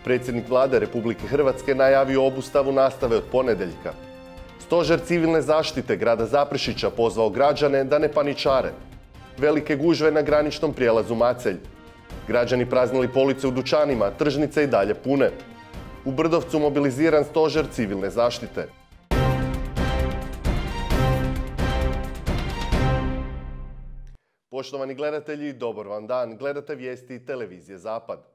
Predsjednik Vlade Republike Hrvatske najavio obustavu nastave od ponedjeljka. Stožer civilne zaštite grada Zaprešića pozvao građane da ne paničare. Velike gužve na graničnom prijelazu Macelj. Građani praznili police u dućanima, tržnice i dalje pune. U Brdovcu mobiliziran stožer civilne zaštite. Poštovani gledatelji, dobar vam dan. Gledate vijesti televizije Zapad.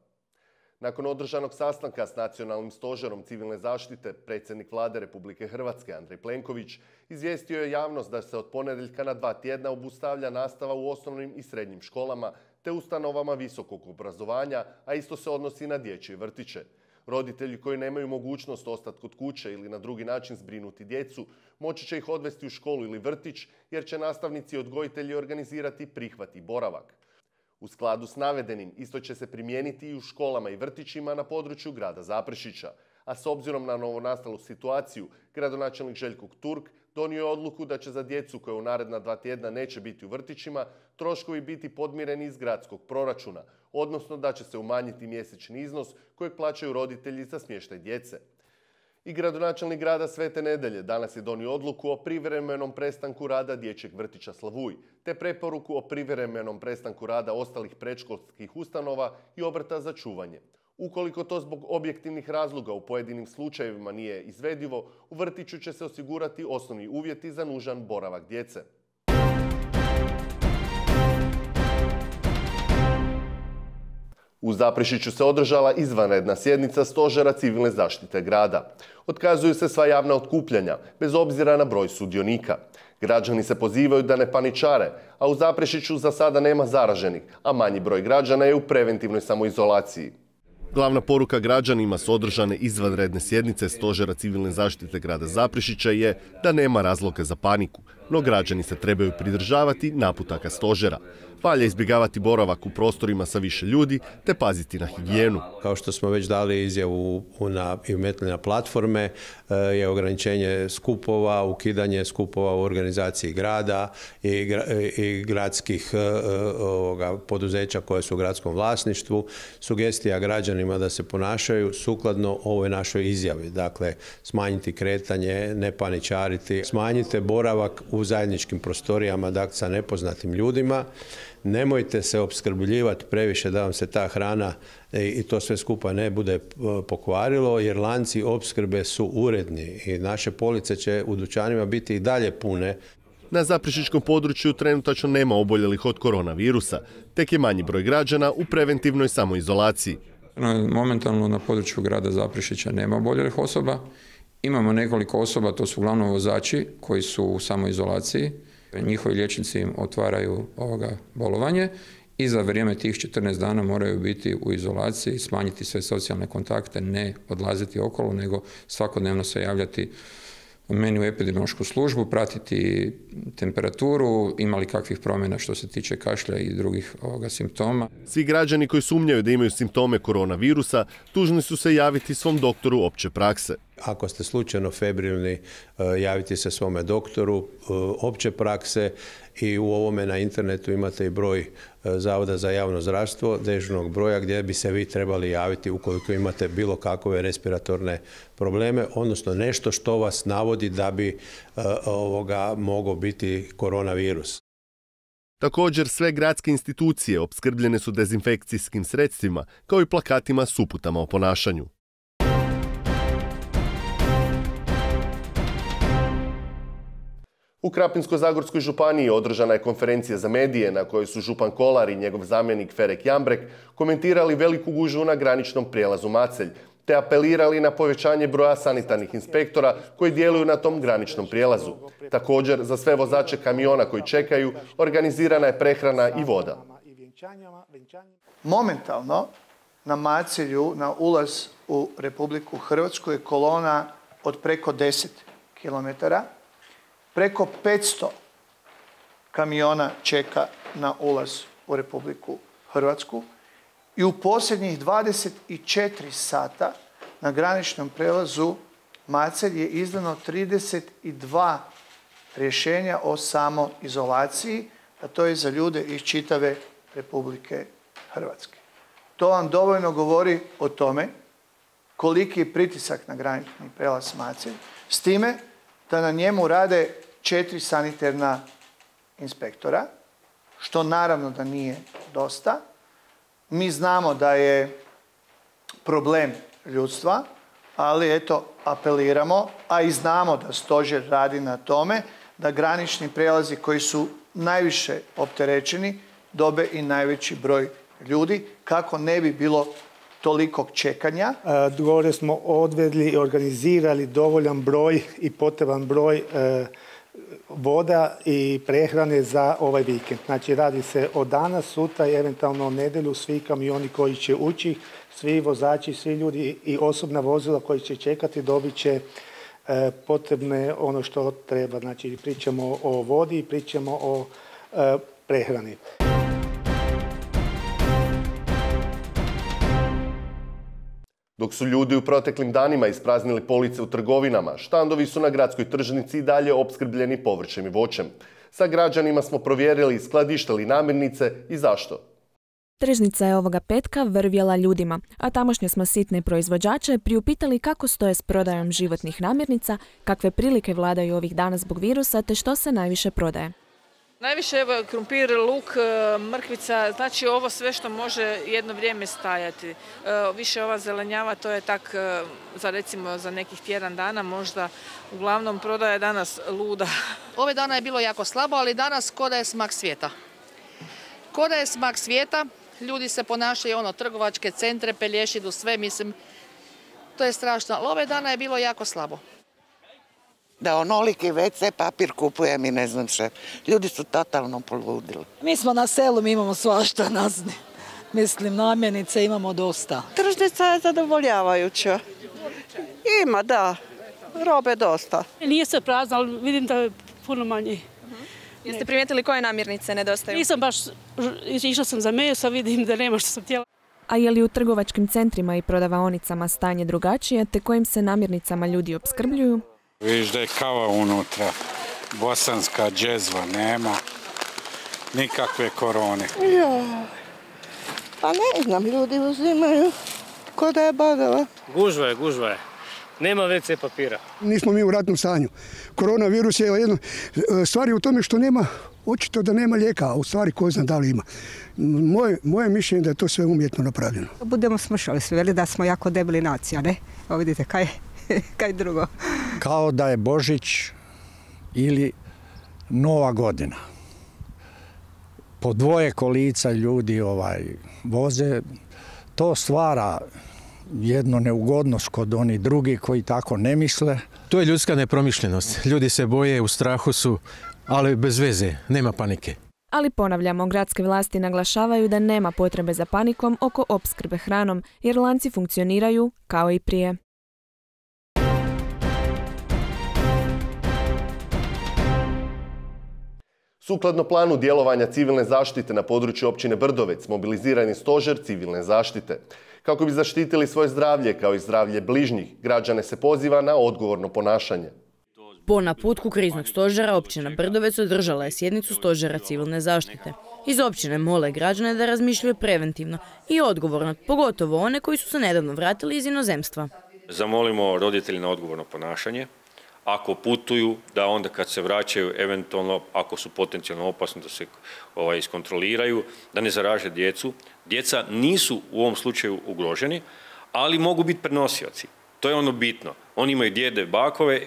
Nakon održanog sastanka s Nacionalnim stožerom civilne zaštite, predsjednik Vlade Republike Hrvatske Andrej Plenković izvijestio je javnost da se od ponedjeljka na 2 tjedna obustavlja nastava u osnovnim i srednjim školama te ustanovama visokog obrazovanja, a isto se odnosi na dječje vrtiće. Roditelji koji nemaju mogućnost ostati kod kuće ili na drugi način zbrinuti djecu, moći će ih odvesti u školu ili vrtić, jer će nastavnici i odgojitelji organizirati prihvat i boravak. U skladu s navedenim, isto će se primijeniti i u školama i vrtićima na području grada Zaprešića, a s obzirom na novonastalu situaciju, gradonačelnik Željko Turk donio je odluku da će za djecu koja u naredna 2 tjedna neće biti u vrtićima, troškovi biti podmireni iz gradskog proračuna, odnosno da će se umanjiti mjesečni iznos kojeg plaćaju roditelji za smještaj djece. I gradonačelnik grada Svete Nedelje danas je donio odluku o privremenom prestanku rada dječjeg vrtića Slavuj, te preporuku o privremenom prestanku rada ostalih predškolskih ustanova i obrta za čuvanje. Ukoliko to zbog objektivnih razloga u pojedinim slučajevima nije izvedivo, u vrtiću će se osigurati osnovni uvjeti za nužan boravak djece. U Zaprešiću se održala izvanredna sjednica Stožera civilne zaštite grada. Otkazuju se sva javna okupljanja, bez obzira na broj sudionika. Građani se pozivaju da ne paničare, a u Zaprešiću za sada nema zaraženih, a manji broj građana je u preventivnoj samoizolaciji. Glavna poruka građanima s održane izvanredne sjednice Stožera civilne zaštite grada Zaprešića je da nema razloga za paniku, no građani se trebaju pridržavati naputaka stožera. Valja izbjegavati boravak u prostorima sa više ljudi te paziti na higijenu. Kao što smo već dali izjavu i umetili na platforme, je ograničenje skupova, ukidanje skupova u organizaciji grada i gradskih poduzeća koje su u gradskom vlasništvu. Sugestija građanima da se ponašaju sukladno ovoj našoj izjavi. Dakle, smanjiti kretanje, ne paničariti, smanjite boravak u zajedničkim prostorijama, dakle, sa nepoznatim ljudima. Nemojte se opskrbljivati previše da vam se ta hrana i to sve skupa ne bude pokvarilo, jer lanci opskrbe su uredni i naše police će u dućanima biti i dalje pune. Na zaprešićkom području trenutačno nema oboljelih od koronavirusa, tek je manji broj građana u preventivnoj samoizolaciji. Momentalno na području grada Zaprešića nema oboljelih osoba. Imamo nekoliko osoba, to su uglavnom vozači koji su u samoizolaciji. Njihovi liječnici im otvaraju bolovanje i za vrijeme tih 14 dana moraju biti u izolaciji, smanjiti sve socijalne kontakte, ne odlaziti okolo, nego svakodnevno se javljati meni u epidemiološku službu, pratiti temperaturu, ima li kakvih promjena što se tiče kašlja i drugih simptoma. Svi građani koji sumnjaju da imaju simptome koronavirusa dužni su se javiti svom doktoru opće prakse. Ako ste slučajno febrilni, javite se svome doktoru opće prakse i u ovome na internetu imate i broj Zavoda za javno zdravstvo, dežurnog broja gdje bi se vi trebali javiti ukoliko imate bilo kakve respiratorne probleme, odnosno nešto što vas navodi da bi mogao biti koronavirus. Također sve gradske institucije opskrbljene su dezinfekcijskim sredstvima kao i plakatima s uputama o ponašanju. U Krapinsko-zagorskoj županiji održana je konferencija za medije na kojoj su župan Kolar i njegov zamjenik Ferek Jambrek komentirali veliku gužvu na graničnom prijelazu Macelj, te apelirali na povećanje broja sanitarnih inspektora koji djeluju na tom graničnom prijelazu. Također, za sve vozače kamiona koji čekaju, organizirana je prehrana i voda. Momentalno na Macelju, na ulaz u Republiku Hrvatsku je kolona od preko 10 km. Preko 500 kamiona čeka na ulaz u Republiku Hrvatsku i u posljednjih 24 sata na graničnom prelazu Macelj je izdano 32 rješenja o samoizolaciji, a to je za ljude iz čitave Republike Hrvatske. To vam dovoljno govori o tome koliki je pritisak na granični prijelaz Macelj, s time da na njemu rade 4 sanitarna inspektora, što naravno da nije dosta. Mi znamo da je problem ljudstva, ali eto, apeliramo, a i znamo da stožer radi na tome da granični prijelazi koji su najviše opterećeni dobe i najveći broj ljudi, kako ne bi bilo tolikog čekanja. Gore smo odvedli i organizirali dovoljan broj i potreban broj voda i prehrane za ovaj vikend. Znači radi se o danas, sutra i eventualno nedjelju, svi kamioni koji će ući, svi vozači, svi ljudi i osobna vozila koji će čekati dobit će potrebne ono što treba. Znači pričamo o vodi, pričamo o prehrani. Dok su ljudi u proteklim danima ispraznili police u trgovinama, štandovi su na gradskoj tržnici i dalje opskrbljeni povrćem i voćem. Sa građanima smo provjerili skladište li namirnice i zašto. Tržnica je ovoga petka vrvjela ljudima, a tamošnje smo sitne proizvođače priupitali kako stoje s prodajom životnih namirnica, kakve prilike vladaju ovih dana zbog virusa te što se najviše prodaje. Najviše evo, krumpir, luk, mrkvica, znači ovo sve što može jedno vrijeme stajati. Više ova zelenjava, to je tak za recimo za nekih tjedan dana možda. Uglavnom prodaja je danas luda. Ove dana je bilo jako slabo, ali danas ko da je smak svijeta. Ko da je smak svijeta, ljudi se ponašaju trgovačke centre, pelješidu, sve, mislim, to je strašno. Ali ove dana je bilo jako slabo. Da onoliki WC papir kupujem i ne znam še. Ljudi su totalno poludili. Mi smo na selu, mi imamo svašta, mislim, namirnice imamo dosta. Tržnica je zadovoljavajuća. Ima, da, robe dosta. Nije se prazna, ali vidim da je puno manje. Jeste primijetili koje namirnice nedostaju? Nisam baš, išla sam za meso, vidim da nema što sam htjela. A je li u trgovačkim centrima i prodavaonicama stanje drugačije, te kojim se namirnicama ljudi opskrbljuju? Vidiš da je kava unutra, bosanska džezva, nema nikakve korone. Pa ne znam, ljudi uzimaju ko da je badava. Gužva je. Nema WC papira. Nismo mi u ratnom stanju. Koronavirus je jedno stvari u tome što nema, očito da nema lijeka, a u stvari ko zna da li ima. Moje mišljenje je da je to sve umjetno napravljeno. Budemo slušali su, veli da smo jako debeli nacija, ne? Evo vidite, kaj drugo. Kao da je Božić ili Nova godina. Po dvoje kolica ljudi voze, to stvara jednu neugodnost kod onih drugi koji tako ne misle. To je ljudska nepromišljenost. Ljudi se boje, u strahu su, ali bez veze, nema panike. Ali ponavljamo, gradske vlasti naglašavaju da nema potrebe za panikom oko opskrbe hranom, jer lanci funkcioniraju kao i prije. Sukladno planu djelovanja civilne zaštite na području općine Brdovec, mobiliziran je stožer civilne zaštite. Kako bi zaštitili svoje zdravlje kao i zdravlje bližnjih, građane se poziva na odgovorno ponašanje. Po naputku kriznog stožera općina Brdovec održala je sjednicu stožera civilne zaštite. Iz općine mole građane da razmišljaju preventivno i odgovorno, pogotovo one koji su se nedavno vratili iz inozemstva. Zamolimo roditelji na odgovorno ponašanje. Ako putuju, da onda kad se vraćaju, eventualno, ako su potencijalno opasni, da se iskontroliraju, da ne zaraže djecu. Djeca nisu u ovom slučaju ugroženi, ali mogu biti prenosioci. To je ono bitno. Oni imaju djede,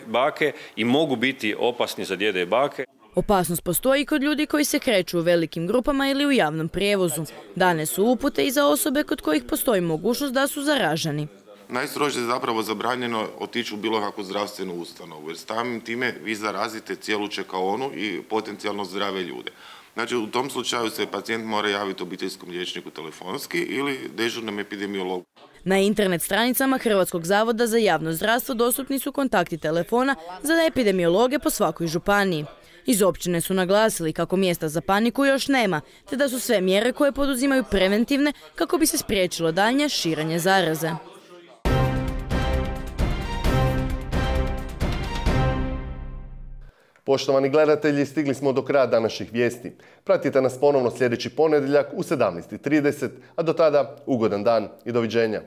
bake i mogu biti opasni za djede i bake. Opasnost postoji kod ljudi koji se kreću u velikim grupama ili u javnom prijevozu. Dane su upute i za osobe kod kojih postoji mogućnost da su zaraženi. Najstrože je zapravo zabranjeno otići u bilo kakvu zdravstvenu ustanovu, jer samim time vi zarazite cijelu čekaonu i potencijalno zdrave ljude. Znači, u tom slučaju se pacijent mora javiti obiteljskom liječniku telefonski ili dežurnom epidemiologu. Na internet stranicama Hrvatskog zavoda za javno zdravstvo dostupni su kontakti telefona za epidemiologe po svakoj županiji. Iz općine su naglasili kako mjesta za paniku još nema, te da su sve mjere koje poduzimaju preventivne kako bi se spriječilo daljnje širenje zaraze. Poštovani gledatelji, stigli smo do kraja današnjih vijesti. Pratite nas ponovno sljedeći ponedjeljak u 17:30, a do tada ugodan dan i doviđenja.